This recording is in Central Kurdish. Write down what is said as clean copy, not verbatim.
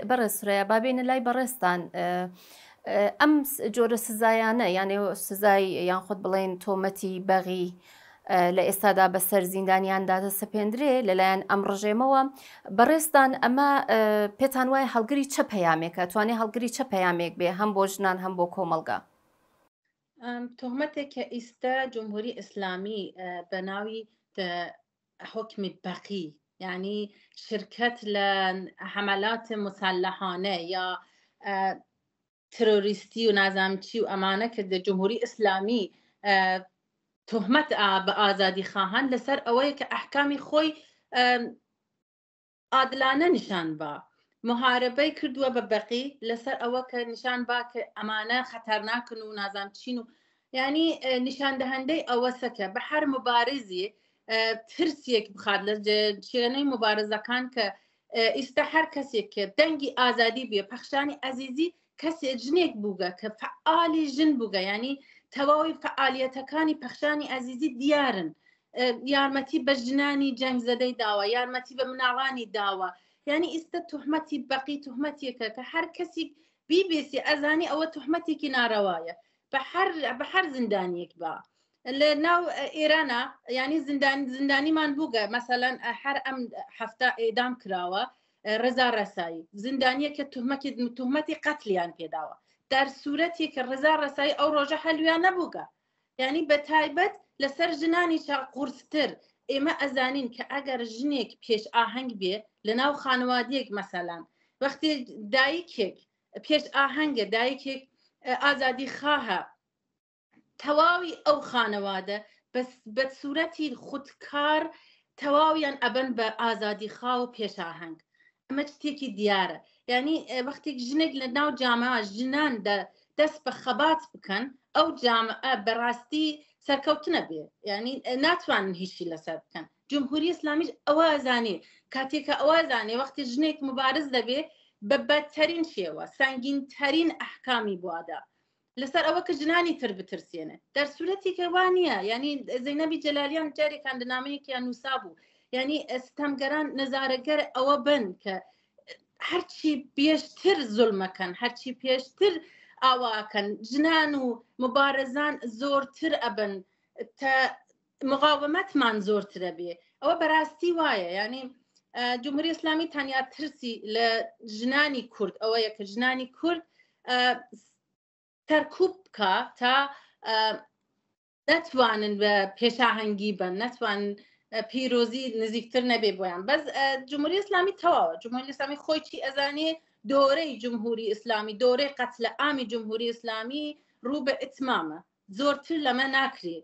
بەڕێز سورەیا با بێینە لای بەڕێزتان ئەم جۆرە سزایانە یانێ سزای یان خۆت بڵێن تۆمەتی بەغی لە ئێستادا بەسەر زیندانیاندا دەسەپێندرێ لەلایەن ئەم ڕژێمەوە بەڕێزتان ئەمە پێتان وایە هەڵگری چە پەیامێکە توانێ هەڵگری چە پەیامێک بێ هەم بۆ ژنان هەم بۆ کۆمەڵگا؟ تهمەتێک کە ئیستا جمهوری ئیسلامی بە ناوی حکمی بەقی یعنی شرکت لە حملات مسلحانە یا ترۆریستی و نازانم چی و ئەمانە کە دە جمهوری ئیسلامی تهمەت بە ئازادی خواهان لەسەر ئەوەیە کە ئەحکامی خۆی عادلانە نیشان با محاربەی کردووە بە بەقی لەسەر ئەوە کە نیشان با کە ئەمانە خەتەرناکن و نازام چین و یعنی نیشاندەهندەی ئەوەسە کە بە هەر مبارزی ترسێک بخات لە چێنەی مبارزەکان کە ئیستا هەر کەسێک کە دەنگی ئازادی بێ پەخشانی ئەزیزی کەسێ ژنێک بووگە کە فعالی ژن بووگە ینی تەواوی فعالیەتەکانی پەخشانی ئەزیزی دیارن یارمەتی بە ژنانی جەنگ زەدەی داوە یارمەتی بە مناڵانی داوە یعنی ئیستا تهمەتی بەقی تهمەتێکە کە هەر کەسیک بیبێسی ئەزانی ئەوە تهمەتێکی ناڕەوایە بە هەر بە هەر زیندانیەک بە لە ناو ئێرانە ینی زیندان زیندانیمان بووگە مەسەلەن هەر ئەم هەفتە ئێدام کراوە ڕزا ڕەسایی زیندانیە کە تهمەکی تهمەتی قەتلیان پێداوە در سوورەتی کە ڕزا ڕەسایی ئەو ڕۆژە هەلویان نەبووگە یعنی بە تایبەت لەسەر ژنانی چا قورستر ئێمە ئەزانین کە ئەگەر ژنێک پێش ئاهەنگ بێ لە ناو خانوادیەک مەسەلان وەختی دایکێک پێش ئاهەنگە دایکێک ئازادی خواهە تەواوی ئەو خانەوادە بەس بە سوورەتی خودکار تەواویان ئەبن بە ئازادی خا و پێشاهەنگ ئەمە شتێکی دیارە یعنی وەختێک ژنێک لە ناو جامعە ژنان دەست بە خەبات بکەن ئەو جامعە بەڕاستی سەرکەوتنە بێ یعنی ناتوانن هیچی لەسەر بکەن جمهوری ئیسلامیش ئەوە ئەزانێ کاتێکە ئەوە ئەزانێ وەختی ژنێک مبارز دەبێ بە بەدترین شێوە سەنگینترین ئەحکامی بوادا لەسەر ئەوە کە ژنانی تر بترسێنێ در سوورەتی کە وا نییە ینی زەینەبی جەلالیان جارێکان لە نامەیەکیان نووسا بوو ینی ستەمگەران نەزارەگەر ئەوە بن کە هەرچی پێشتر زولمەکەن هەرچی پێشتر ئاواکەن ژنان و مبارزان زۆرتر ئەبن تا مقاومەتمان زۆرترە بێ ئەوە بەراستی وایە ینی جمهوری ئیسلامی تەنیا ترسی لە ژنانی کورد ئەوەیە کە ژنانی کورد سەرکوب بکە تا نەتوانن بە پێشاهەنگی بن نەتوان پیرۆزی نزیکتر نەبێ بۆیان بەس جمهوری ئیسلامی تەواوە جمهوری ئیسلامی خۆی چی ئەزانێ دۆرەی جمهوری ئیسلامی دۆرەی قەتلە ئامی جمهوری ئیسلامی ڕوو بە ئیتمامە زۆرتر لەمە ناکرێ.